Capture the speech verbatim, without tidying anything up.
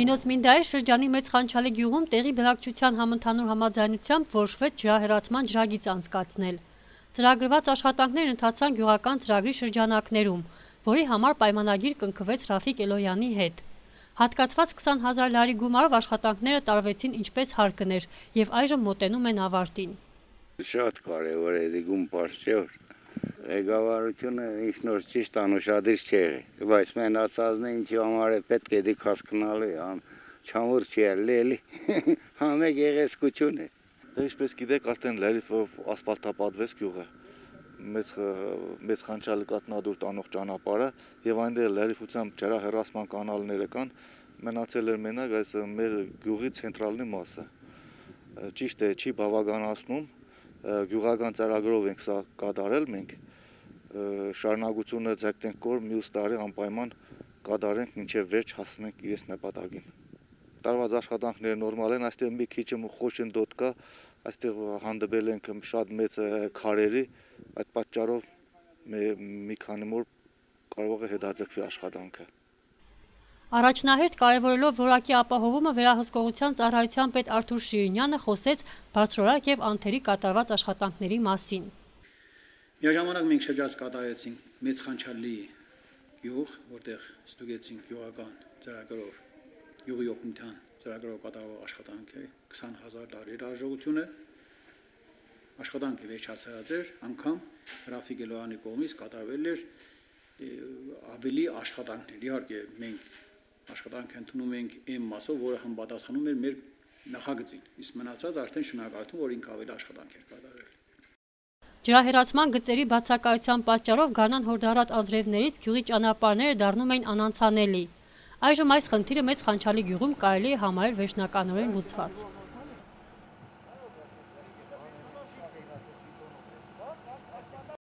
Նինոց Մինդայի շրջանի Մեծ Խանչալի գյուղում տեղի բնակչության համընդհանուր համաձայնությամբ որոշվեց ջրահեռացման ջրագիծ անցկացնել։ Ծրագրված աշխատանքներն ընթացան գյուղական ծրագրի շրջանակներում, որի համար պայմանագիր կնքվեց Ռաֆիկ Էլոյանի հետ։ Հատկացված քսան հազար լարի գումարով աշխատանքները տարվեցին ինչպես հարկն էր եւ այժմ մոտենում են ավարտին։ Շատ կարևոր է դիգում պարշեոր։ Ղեկավարությունը ինչ նոր ճիշտ անուշադիր չէ, բայց մենացածն է ինչի համար է պետք է դիք հասկանալու է, չամուր չի էլի, համեկ եղեսկություն է։ Դե ինչպես գիտեք, արդեն լրիվ ասֆալտապատվեց գյուղը, Մեծ Խանչալի կատնադուր տանող ճանապարհը եւ այնտեղ լրիվությամբ ջրահեռացման կանալները կան, մնացել էր մենակ այս մեր գյուղի ցենտրալնի մասը։ Ճիշտ է, չի բավականացնում, գյուղական ծրագրով ենք սա կատարել մենք, շարունակությունը ձգտենք կոր մյուս տարի անպայման կատարենք մինչև վերջ հասնենք իրենց նպատակին։ Տարված աշխատանքները նորմալ են, այստեղ մի քիչ խոշնդոտ կա, այստեղ հանդիպել ենք շատ մեծ քարերի, այդ պատճառով մի քանի օր կարող է հետաձգվի աշխատանքը։ Առաջնահերթ կարևորելով որակի ապահովումը վերահսկողության ծառայության պետ Արթուր Շիրինյանը խոսեց բարձրորակ եւ անթերի կատարված աշխատանքների մասին։ Միաժամանակ մենք շրջած կատարեցինք Մեծ Խանչալի գյուղ, որտեղ ստուգեցինք գյուղական ծրագրով, գյուղի օգնության ծրագրով կատարվող աշխատանքի քսան հազար լարի հաջողությունը, աշխատանքը վերջացած էր, անգամ Ռաֆիկ Էլոյանի կողմից կատարվել էր ավելի աշխատանքներ։ Իհարկե մենք աշխատանք ընդունում ենք այն մասով, որը համապատասխանում էր մեր նախագծին, իսկ մնացած արդեն շնորհակալություն, որ ինքը ավելի աշխատանք էր կատարել։ Ջրահեռացման գծերի բացակայության պատճառով Գառնան Հորդառատ անձրևներից գյուղի ճանապարհները դառնում էին անանցանելի։ Այժմ այս խնդիրը Մեծ Խանչալի գյուղում կարելի է համարել վերջնականորեն լուծված։